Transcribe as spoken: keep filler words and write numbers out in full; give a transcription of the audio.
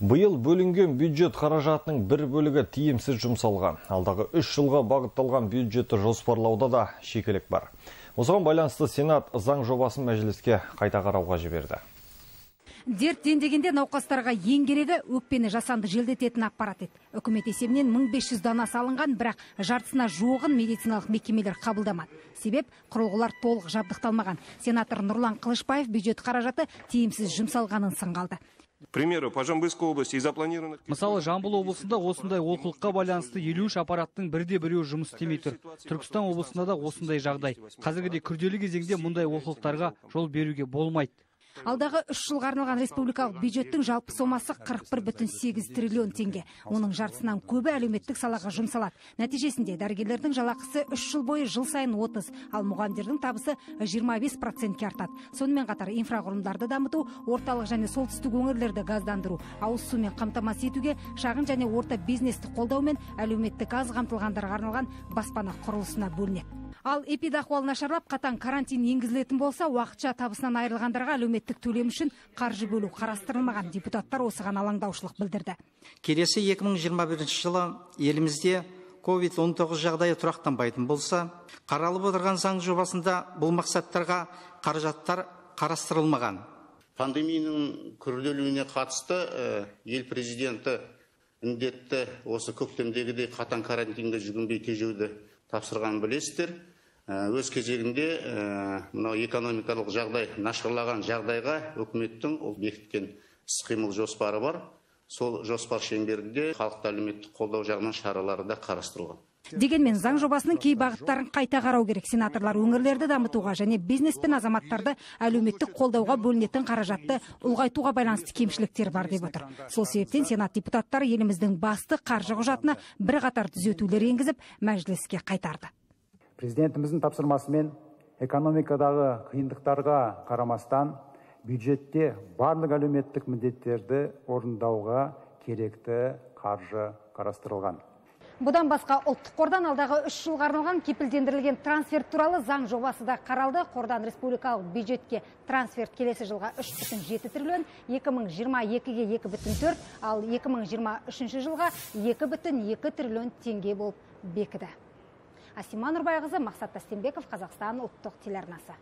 Бұйыл бөлінген бюджет қаражатының бір бөлігі тиімсіз жұмсалған. Алдағы үш жылға бағытталған бюджетті жоспарлауда да шикілік бар. Осыған байланысты Сенат заң жобасын мәжіліске қайта қарауға жіберді. Дерт дендегенде науқастарға ең керегі өкпені жасанды желдететін аппарат еді. Үкімет есебінен мың бес жүз дана салынған, бірақ жартысына жуығын медициналық мекемелер қабылдамады. Себеп құрылғылар толық жабдықталмаған. Сенатор Нұрлан Қылышбаев бюджет қаражаты тиімсіз жұмсалғанын сынға алды. Примеру, по Жамбылской области запланировано... Мысалы, Жамбыл облысында осындай олқылыққа байланысты елу үш аппараттың бірде біреуі жұмыс істемей тұр. Түркістан облысында да осындай жағдай. Қазіргідей күрделі кезеңде мұндай олқылықтарға жол беруге болмайды. Алдағы үш жылға арналған республикалық бюджеттің жалпы сомасы қырық бір бүтін сегіз триллион теңге. Оның жартысынан көбі әлеуметтік салаға жұмсалады. Нәтижесінде дәрігерлердің жалақысы үш жыл бойы жыл сайын отыз, ал мұғалімдердің табысы жиырма бес процентке артады. Сонымен қатар инфрақұрылымдарды дамыту, орталық және солтүстік өңірлерді газдандыру, ауыз сумен қамтамасыз етуге, шағын және орта бизнесті қолдаумен әлеуметтік аз қамтылғандарға арналған баспана құрылысына бөлінеді. Ал эпидахуал нашарлап, қатаң карантин енгізілетін болса, уақытша табысынан айырылғандарға әлеуметтік төлем үшін қаржы бөлу қарастырылмаған. Депутаттар осыған алаңдаушылық білдірді. Келесі екі мың жиырма бірінші жылы елімізде ковид он тоғыз жағдайы тұрақтанбайтын болса, қаралып отырған заң жобасында бұл мақсаттарға қаражаттар қарастырылмаған. Пандемияның күрделуіне қатысты ел президенті індетті осы көктемдегідей қатаң карантинге жүгінбей тежеуді тапсырған білесіздер. Өз кезегінде мынау экономикалық жағдай нашарлаған жағдайға үкіметтің ол бекіткен іс-қимыл жоспары бар. Сол жоспар шеңберінде халықты әлеуметтік қолдау жағынан шаралары да қарастырылған. Дегенмен заң жобасының кей бағыттарын қайта қарау керек. Сенаторлар өңірлерді дамытуға және бизнес пен азаматтарды әлеуметтік қолдауға бөлінетін қаражатты ұлғайтуға байланысты кемшіліктер бар деп отыр. Сол себептен Сенат депутаттары еліміздің басты қаржы құжатына бірқатар түзетулер енгізіп, мәжіліске қайтарды. Президентіміздің тапсырмасымен экономикадағы қиындықтарға қарамастан бюджетте барлық әлеуметтік міндеттерді орындауға керекті қаржы қарастырылған. Бұдан басқа ұлттық қордан алдағы үш жылға арналған кепілдендірілген трансферт туралы заң жобасы да қаралды. Қордан республикалық бюджетке трансферт келесі жылға үш бүтін жеті триллион, екі мың жиырма екіге екі бүтін төрт, ал екі мың жиырма үшінші жылға екі бүтін екі триллион теңге болып бекіді. Асима Нұрбайқызы, Мақсат Тастенбеков, Қазақстан ұлттық телеарнасы.